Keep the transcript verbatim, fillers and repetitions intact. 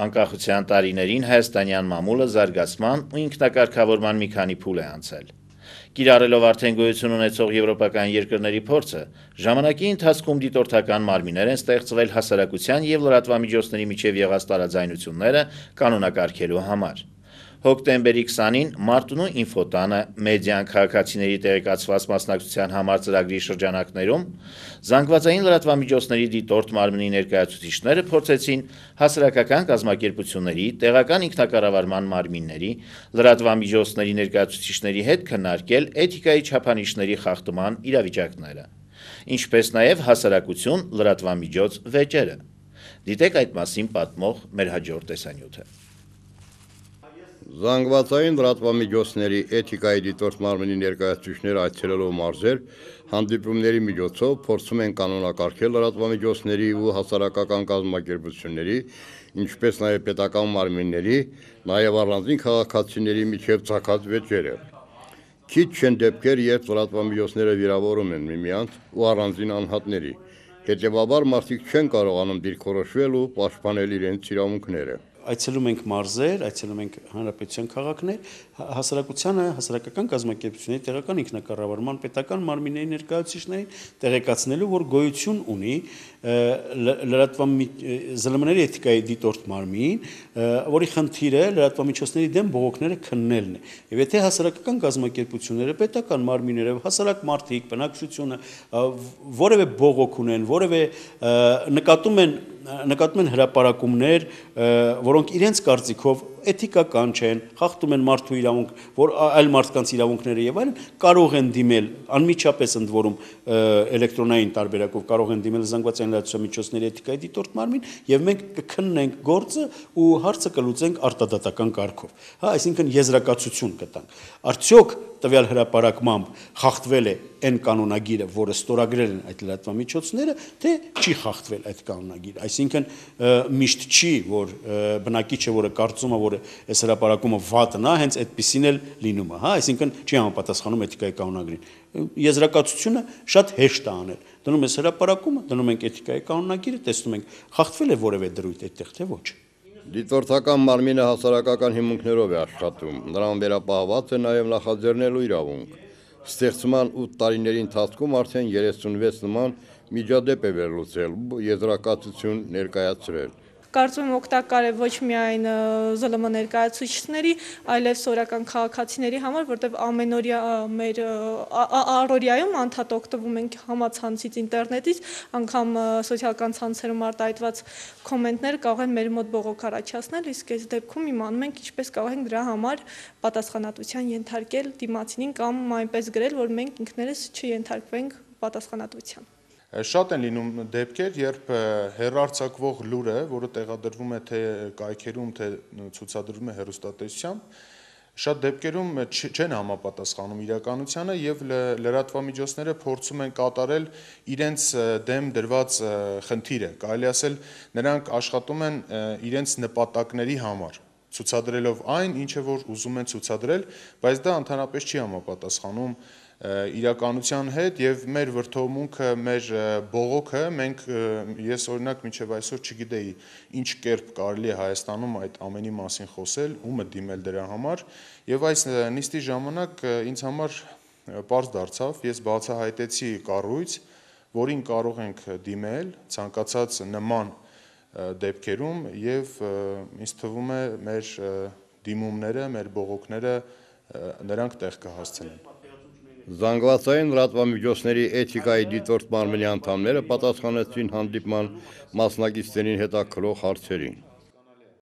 Անկախության տարիներին հայաստանյան մամուլը զարգացման ու ինքնակարգավորման մի քանի փուլ է անցել։ Կիրառելով արդեն գոյություն ունեցող եվրոպական երկրների փորձը, ժամանակի ընթացքում դիտորդական մարմիններ են ստեղծվել հասարակության և լրատվամիջոցների միջև եղած տարաձայնությունները կանոնակարգելու համար։ Հոկտեմբերի քսանին Մարտունու ինֆոտանը մեդիան քաղաքացիների տեղեկացված մասնակցության համար ծրագրի շրջանակներում զանգվածային լրատվամիջոցների դիտորդ մարմնի ներկայացուցիչները փորձեցին հասարակական կազմակերպությունների, տեղական ինքնակառավարման մարմինների, լրատվամիջոցների ներկայացուցիչների հետ քննարկել էթիկայի չափանիշների խախտման իրավիճակները, ինչպես նաև հասարակություն լրատվամիջոց վեճերը։ Դիտեք այդ մասին պատմող մեր հաջորդ տեսանյութը։ Զանգվածային լրատվամիջոցների էթիկայի դիտորդ մարմնի ներկայացուցիչները այցելելով մարզեր, հանդիպումների միջոցով փորձում են կանոնակարգել լրատվամիջոցների ու հասարակական կազմակերպությունների, ինչպես նաև պետական մարմինների, նաև առանձին քաղաքացիների միջև ծագած վեճերը։ Քիչ չեն դեպքեր, երբ լրատվամիջոցները վիրավորում են միմյանց ու առանձին անհատների, հետևաբար մարդիկ չեն կարողանում դիրքորոշվել ու պաշտպանել իրենց իրավունքները։ Այցելում ենք մարզեր, այցելում ենք հանրապետության քաղաքներ, հասարակությանը, հասարակական կազմակերպությունների, տեղական ինքնակառավարման, պետական մարմինների ներկայացուցիչներին տեղեկացնելու, որ գոյություն ունի ԶԼՄ-ների էթիկայի դիտորդ մարմին, որի խնդիրը լրատվամիջոցների դեմ բողոքները քննելն է։ Եվ եթե հասարակական կազմակերպությունները, պետական մարմինները, հասարակ մարդիկ, բնակչությունը որևէ բողոք ունեն, որևէ նկատում են նկատում են հրապարակումներ, որոնք իրենց կարծիքով էթիկական չեն, խախտում են մարդու իրավունք, որ այլ մարդկանց իրավունքները եւ այլն, կարող են դիմել անմիջապես ընդ որում էլեկտրոնային տարբերակով կարող են դիմել զանգվածային լրատվամիջոցների էթիկայի դիտորդ մարմին եւ մենք կքննենք գործը ու հարցը կլուծենք արտադատական կարգով։ Հա, այսինքն եզրակացություն կտանք։ Արդյոք տվյալ հրապարակմամբ խախտվել է այն կանոնագիրը, որը ստորագրել են այդ լրատվամիջոցները, թե չի խախտվել այդ կանոնագիրը։ Այսինքն միշտ չի, որ բնակիչը, որը կարծում է, որ այս հրապարակումը վատն է, հենց այդպեսին էլ լինում է, հա, այսինքն չի համապատասխանում էթիկայի կանոնագրին։ Եզրակացությունը շատ հեշտ է անել։ Դնում ես հրապարակումը, դնում ենք էթիկայի կանոնագիրը, տեսնում ենք խախտվել է որևէ դրույթ այդտեղ, թե ոչ։ Դիտորդական մարմինը հասարակական հիմունքներով է աշխատում, նրան վերապահված է նաև նախաձեռնելու իրավունք։ Ստեղծման ութ տարիների ընթացքում արդեն երեսունվեց նման միջադեպ է վերլուծել, եզրակացություն ներկայացրել։ Կարծում եմ օգտակար է ոչ միայն ԶԼՄ ներկայացուցիչների, այլև սորական քաղաքացիների համար, որտեղ ամենօրյա մեր առօրյայում անդադ օգտվում ենք համացանցից, ինտերնետից, անգամ սոցիալական ցանցերում արտահայտված կոմենտները կարող են մեր մոտ բողոք առաջացնել, իսկ այս դեպքում իմանում ենք ինչպես կարող ենք դրա համար պատասխանատվության ենթարկել դիմացինին կամ այնպես գրել, որ մենք ինքներս չենթարկվենք պատասխանատվության։ Շատ են լինում դեպքեր, երբ հեռարձակվող լուրը, որը տեղադրվում է թե կայքերում, թե ցուցադրվում է հեռուստատեսությամբ, շատ դեպքերում չեն համապատասխանում իրականությանը եւ լրատվամիջոցները փորձում են կատարել իրենց դեմ դրված խնդիրը, կարելի ասել նրանք աշխատում են իրենց նպատակների համար, ցուցադրելով այն, ինչը որ ուզում են ցուցադրել, բայց դա ընդհանրապես չի համապատասխանում իրականության հետ եւ մեր վրթովմունքը, մեր բողոքը մենք ես օրինակ մինչեւ այսօր չգիտեի ինչ կերպ կարելի է Հայաստանում այդ ամենի մասին խոսել, ումը դիմել դրա համար եւ այս նիստի ժամանակ ինձ համար պարզ դարձավ, ես բացահայտեցի կառույց, որին կարող ենք դիմել ցանկացած նման դեպքերում եւ ինձ թվում է մեր դիմումները, մեր բողոքները նրանք տեղ կհասցնեն։ Զանգվածային լրատվամիջոցների էթիկայի դիտորդ մարմնի անդամները պատասխանեցին հանդիպման մասնակիցներին հետաքրող հարցերին։